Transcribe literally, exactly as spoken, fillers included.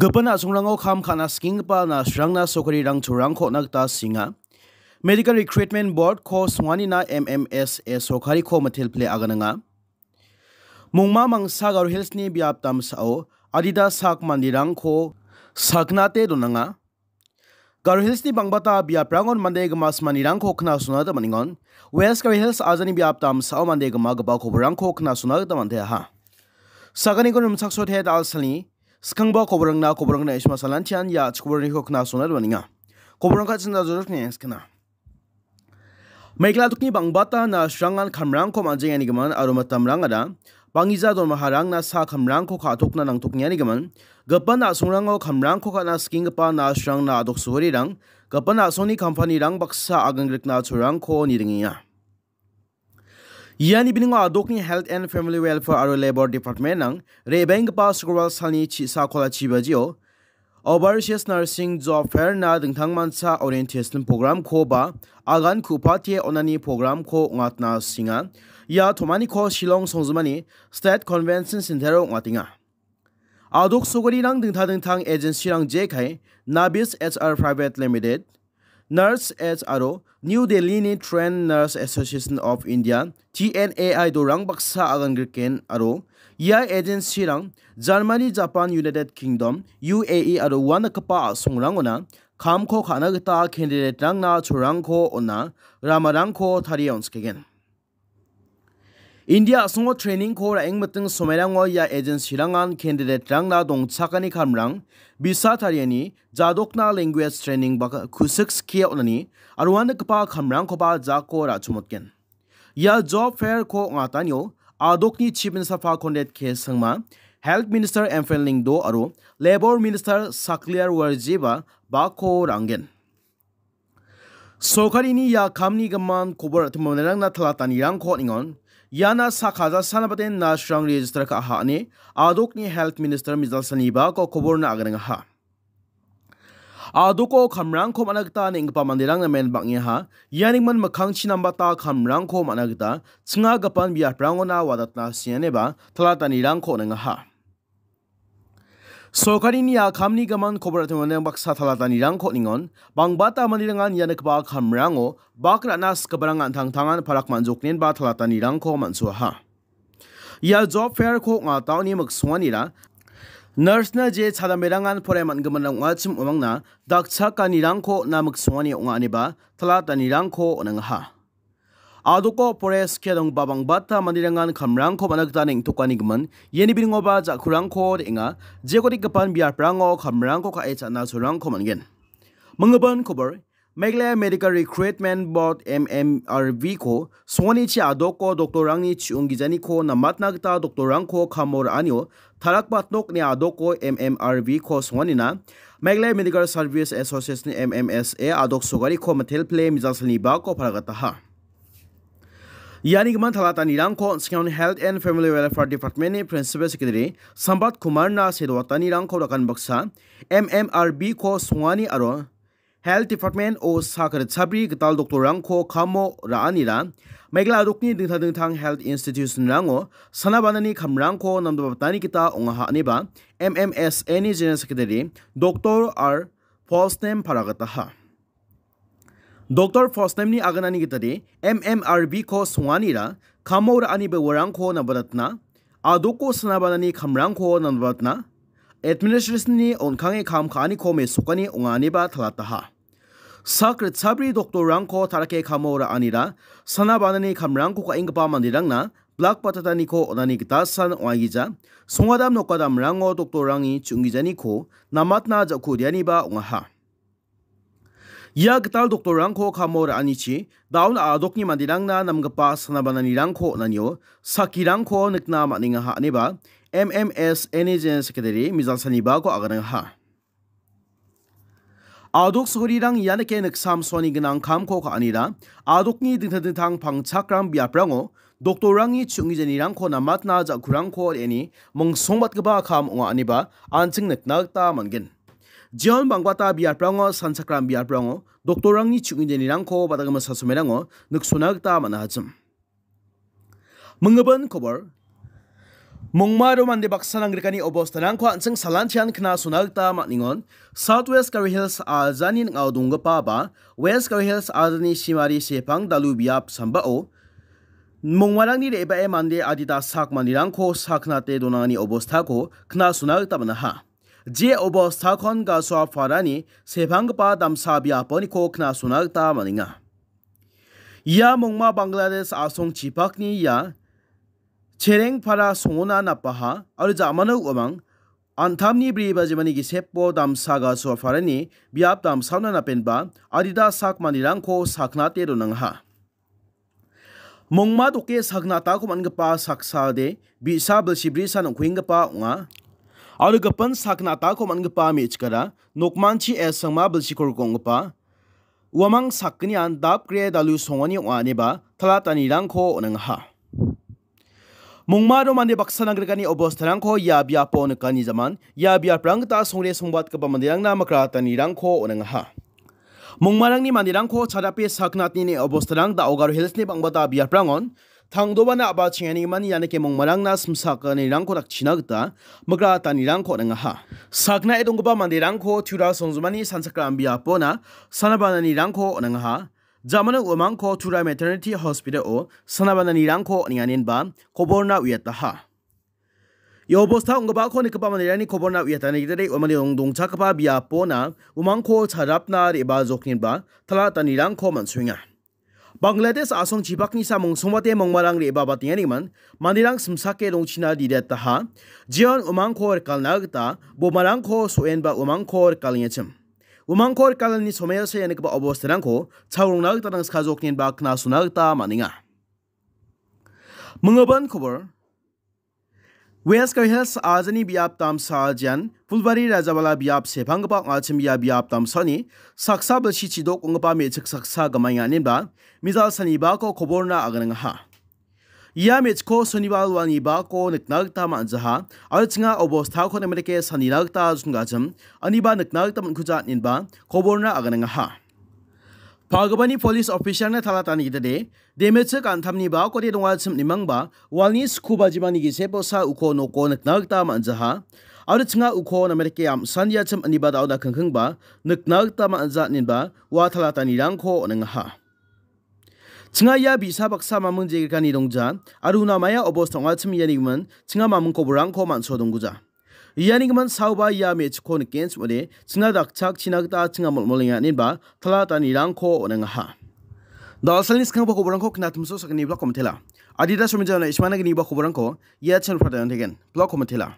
Gipin a·songrango kam ka·na skenggipa nurse-rangna sorkarirang cholrangko on·a gita sringa. Medical Recruitment Board-ko songanina M M S A sorkariko mitel pile agananga. Mongma mangsa Garo Hills-ni biap damsao adita sak manderangko saknate donanga. Garo Hills-ni bangbata biaprangon mande gima simanirangko knasona gita man·engon. West Garo Hills ajani biap damsao mande gima gipa koborangko knasona gita man·teaha. Saganiko rimchaksote dal·salni skangba koborangna koborangna isma salantian ia chikoborniko knasona gita man·enga. Koborangka chinda jodok ne skna. Meghalaya dokni bangbata nurse-rangan kamrangko man·jengani gimin aro mitamrangara bangija donmaharangna sa kamrangko ka·tokna nangtokengani gimin, gipin a·songrango kamrangko ka·na skenggipa nurse-rangna a·dok sugorirang, gipin a·songni kampanirang baksa agangrikna cholrangko niringenga. Iani biningo a·dokni Health and Family Welfare aro Labour Department-rang re·baenggipa Sukrobal salni chi-, sakola chi bajio Overseas Nursing Job Fair-na dingtangmancha orientation program-ko ba agan ku·pate on·ani program-ko ong·atna sringa. Ia tomaniko Shillong songjinmani State Convention Center-o ong·atenga. A·dok sugorirang dingtang dingtang agency-rang jekai Nabis H R Private Limited, Nurse H R O, New Delhi-ni Trained Nurse Association of India, T N A I dorang baksa agangriken aro ia agency-rang Germany, Japan, United Kingdom, U A E aro ua nikgipa a·songrangona kamko ka·na gita candidate-rangna cholrangko on·a ramarangko tarie on·skegen. India a·songo training-ko ra·engmiting somairango ia agency-rangan candidate-rangna dongchakani kamrang, visa tariani, jadokna language training bak-, kusik skie on·ani, aro ua nikgipa kamrangkoba jako ra·chomotgen. Ia job fair-ko ong·atanio a·dokni Chief Minister Conrad K Sangma, Health Minister M Phan Lyngdoh aro Labour Minister Sachlyer Warjyeba bako ra·angen. Sorkarini ia kamni gimin kobor ra·timo manderangna talatanirangko on·engon. Iana sak hajalsana baten nurse-rang register ka·aha ine a·dokni Health Minister Mijalsani Bako koborna aganengaha. A·doko kamrangko man·a gita neng·gipa manderang namen bang·engaha. Iani gimin mikkangchi nambata kamrangko man·a gita ching·agipan biaprangona wadatna sringaniba talatanirangko on·engaha. Sorkarini ia kamni gimin kobor ra·timo manderang baksa talatanirangko on·engon. Bangbata manderangan ia nikgipa kamrango bak ra·na sigiparang an·tangtangan parak man·joknenba talatanirangko man·soaha. Ia job fair-ko ong·ataoni miksonganira nurse-na je chadamberangan porai man·giminrang ong·achim uamangna dakchakanirangko on·a miksongani ong·a ineba talatanirangko on·engaha. A·doko porai skie donggipa bangbata manderangan kamrangko man·a gita neng·tokani gimin, iani biningoba ja·kurangko re·enga, jekode gipan biaprango kamrangko ka·e cha·na cholrangko man·gen. Minggipa kobor, Meghalaya Medical Recruitment Board, M M R B-ko songanichi a·doko doktorrangni chi·onggijaniko namatna gita doktorrangko kamo ra·anio tarakbatnokni a·doko M M R B-ko songanina Meghalaya Medical Service Association, M M S A, a·dok sorkariko mitel pile Mijalsani Bako paragataha. Iani gimin talatanirangko on·singon Health and Family Welfare Department-ni Principal Secretary Sambat Kumarna sedoatanirangko rakan baksa M M R B-ko songani aro Health Department-o sak ritchapri gital doktorrangko kamo ra·anira Meghalaya a·dokni dingtang dingtang health institution-rango sana banani kamrangko namdabatani gita ong·aha ineba M M S A-ni General Secretary Doktor R Fosnem paragataha. Doktor Fosnemni aganani gitade M M R B-ko songanira kamo ra·ani bewarangko nambatatna, a·doko sana banani kamrangko nambatatna, administration-ni on·kange kam ka·aniko mesokani ong·a ineba talataha. Sak ritchapri doktorrangko tarake kamo ra·anira sana banani kamrangko ka·enggipa manderangna blak batataniko on·ani gitasan ong·aigija, songadam nokadamrango doktorrangni chi·onggijaniko namatna ja·kudianiba ong·aha. Ia gital doktorrangko kamo ra·anichi daun a·dokni manderangna namgipa sana bananirangko on·anio sakirangko nikna man·engaha ineba M M S A-ni General Secretary Mijalsani Bako aganengaha. A·dok sorkarirang ianike niksamsoani gnang kamko ka·anira a·dokni dingtang dingtang pangchakram biaprango doktorrangni chi·onggijanirangko namatna ja·kurangko re·eni mingsongbatgipa kam ong·a ineba an·ching nikna gita man·gen. Jeon bangbata biaprango sanchakram biaprango doktorrangni chi·onggijanirangko badagimasa somerango niksona gita man·ahachim. Minggipa kobor. Mongmaro mande baksa nanggrikani obostarangko an·ching salantian knasona gita man·engon. South West Garo Hills ajani ning·ao donggipa ba West Garo Hills ajani simari sepang dalu biap sambao mongmarangni re·bae mande adita sak manderangko saknate donangani obostako knasona gita man·aha. Je obostakon Gasoaparani sepanggipa damsa biaponiko knasona gita man·enga. Ia mongma Bangladesh a·songchipakni ia Cherengpara songona napaha aro jamano uamang antamni bri bajimani gisepo damsa Gasoaparani biap damsaona napenba adita sak manderangko saknate donangaha. Mongma doke saknatako man·gipa saksade bi·sa bilsi brisan ong·kuenggipa ong·a. Aro gipin saknatako man·gipa me·chikara nokmanchi esangma bilsi korgonggipa uamang sakgnian dapgre dalu songoni ong·a ineba talatanirangko on·angaha. Mongmaro mande baksa nanggrikani obostarangko ia biapo nikani jaman ia biaprang gita songre songbatgipa manderangna mikratanirangko on·angaha. Mongmarangni manderangko chadape saknatni obostarang da·o Garo Hillsni bang·bata biaprangon tangdobana a·bachenganigimin ianike mongmarangna simsakanirangko dakchina gita mikratanirangko on·angaha. Saknae donggipa manderangko Tura songjumani sanchakram biapona sanabananirangko on·angaha. Jamano uamangko Tura Maternity Hospital-o sanabananirangko on·enganinba koborna uiataha. Ia obosta ong·gipako nikgipa manderangni koborna uiatani gitade uamani dong-, dongchakgipa biapona umangko charapna re·baa jokninba talatanirangko man·soenga. Bangladesh a·songchipakni samung songbate mongmarang re·baa batenganigimin manderang simsake dongchina didetaha. Jeon umangko rikalna gita bomarangko so·enba umangko rikalengachim. Umangko rikalani somoiose ia nikgipa obostarangko chaorongna gita nangskajokninba knasona gita man·enga. Minggipa kobor. West Garo Hills ajani biap damsa ajian Fulbari Rajabala biap sepanggipa ong·achim ia biap damsani saksa bilsi chidok ong·gipa me·chik saksa gimaenga inenba mejal sanibako koborna aganangaha. Ia me·chikko sonibar walnibako nikna gita man·jaha aro chinga obostako namerike sanina gita jongachim aniba nikna gita man·kuja inenba koborna aganangaha. Pagipani police officer-na talatani gitade, demechik antamni bakode dongachim nimangba, walni sku bajimani giseposa uko noko nikna gita man·jaha. Aro chinga uko namerike amsandiachim aniba daoda kingkingba, nikna gita man·ja inenba, ua talatanirangko on·angaha. Chinga ia bi·sa baksa mamung jegrikani dongja, aro una maia obos tong·achim ianigimin, chinga mamung koborangko man·so dongguja. Ianigimin saoba ia me·chikko nikenchim ong·ode, chinga dakchakchina gita chinga molmolenga inenba talatanirangko on·angaha. Da·alsalni skanggipa koborangko knatimso sakgni blako mitela. Adita somijana ismana gniba koborangko ia channel-o padayon tegen blako mitela.